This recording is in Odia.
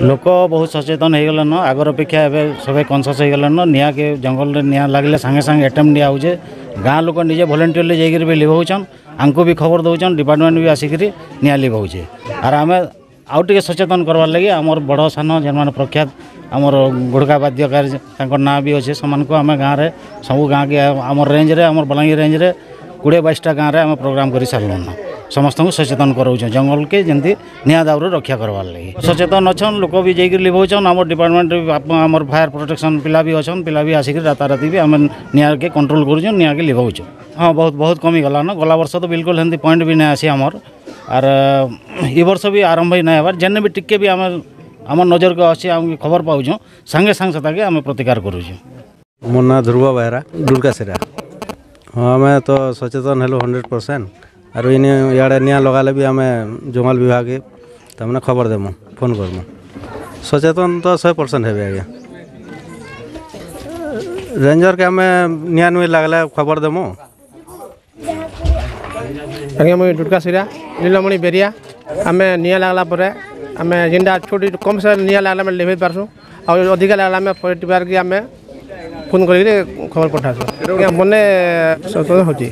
ଲୋକ ବହୁତ ସଚେତନ ହେଇଗଲେନ। ଆଗର ଅପେକ୍ଷା ଏବେ ସବେ କନସିୟସ୍ ହେଇଗଲେନ। ନିଆଁକେ ଜଙ୍ଗଲରେ ନିଆଁ ଲାଗିଲେ ସାଙ୍ଗେ ସାଙ୍ଗେ ଆଟେମ୍ପ ନିଆ ହଉଛେ। ଗାଁ ଲୋକ ନିଜେ ଭଲେଣ୍ଟିୟରଲି ଯାଇକିରି ବି ଲିଭଉଛନ୍, ଆଙ୍କୁ ବି ଖବର ଦଉଛନ୍, ଡିପାର୍ଟମେଣ୍ଟ ବି ଆସିକିରି ନିଆଁ ଲିଭଉଛେ। ଆର୍ ଆମେ ଆଉ ଟିକେ ସଚେତନ କରବାର୍ ଲାଗି ଆମର ବଡ଼ ସାନ ଯେନ୍ମାନେ ପ୍ରଖ୍ୟାତ ଆମର ଗୁଡ଼କା ବାଦ୍ୟକାର, ତାଙ୍କର ନାଁ ବି ଅଛେ, ସେମାନଙ୍କୁ ଆମେ ଗାଁରେ ସବୁ ଗାଁକେ ଆମର ରେଞ୍ଜରେ, ଆମର ବଲାଙ୍ଗୀର ରେଞ୍ଜରେ 20 22ଟା ଗାଁରେ ଆମେ ପ୍ରୋଗ୍ରାମ କରି ସାରିଲୁନ। ସମସ୍ତଙ୍କୁ ସଚେତନ କରାଉଛୁଁ ଜଙ୍ଗଲକେ ଯେମିତି ନିଆଁ ଦାଉରୁ ରକ୍ଷା କରବାର୍ ଲାଗି। ସଚେତନ ଅଛନ୍ ଲୋକ ବି, ଯାଇକିରି ଲିଭଉଛନ୍। ଆମର ଡିପାର୍ଟମେଣ୍ଟ, ଆମର ଫାୟାର ପ୍ରୋଟେକ୍ସନ୍ ପିଲା ବି ଅଛନ୍। ପିଲା ବି ଆସିକିରି ରାତାରାତି ବି ଆମେ ନିଆଁକେ କଣ୍ଟ୍ରୋଲ କରୁଛୁଁ, ନିଆଁକେ ଲିଭଉଛୁଁ। ହଁ, ବହୁତ ବହୁତ କମିଗଲାନ। ଗଲା ବର୍ଷ ତ ବିଲକୁଲ ହେନ୍ତି ପଏଣ୍ଟ ବି ନାଇଁ ଆସି ଆମର। ଆର୍ ଇ ବର୍ଷ ବି ଆରମ୍ଭ ହିଁ ନାଇଁ ହେବାର୍। ଯେନେ ବି ଟିକେ ବି ଆମେ ଆମ ନଜରକୁ ଆସୁଛି, ଆମେ ଖବର ପାଉଛୁଁ, ସାଙ୍ଗେ ସାଙ୍ଗେ ସେଟାକେ ଆମେ ପ୍ରତିକାର କରୁଛୁଁ। ମୋ ନାଁ ଧ୍ରୁବ ବେହେରା, ଦୁର୍ଗାସିରା। ହଁ, ଆମେ ତ ସଚେତନ ହେଲୁ 100%। ଆରୁ ଇନେ ଇଆଡ଼େ ନିଆଁ ଲଗାଲେ ବି ଆମେ ଜଙ୍ଗଲ ବିଭାଗକେ ତାମାନେ ଖବର ଦେମୁ, ଫୋନ୍ କରମୁ। ସଚେତନ ତ 100% ହେବେ ଆଜ୍ଞା। ରେଞ୍ଜର୍କେ ଆମେ ନିଆଁ ନୁଇଁ ଲାଗଲେ ଖବର ଦେମୁ। ଆଜ୍ଞା, ମୁଇଁ ଡୁଡ଼କାସିରା ନୀଲମଣି ବେରିଆ। ଆମେ ନିଆଁ ଲାଗଲା ପରେ ଆମେ ଯେନ୍ଟା ଛୋଟ କମ୍ ସେ ନିଆଁ ଲାଗଲେ ଆମେ ଲିଭେଇ ପାରସୁଁ, ଆଉ ଅଧିକା ଲାଗଲେ ଆମେ ଫରେଷ୍ଟ ବିଭାଗକେ ଆମେ ଫୋନ୍ କରିକିରି ଖବର ପଠାସୁଁ। ଆଜ୍ଞା, ମନେ ସଚେତନ ହେଉଛି।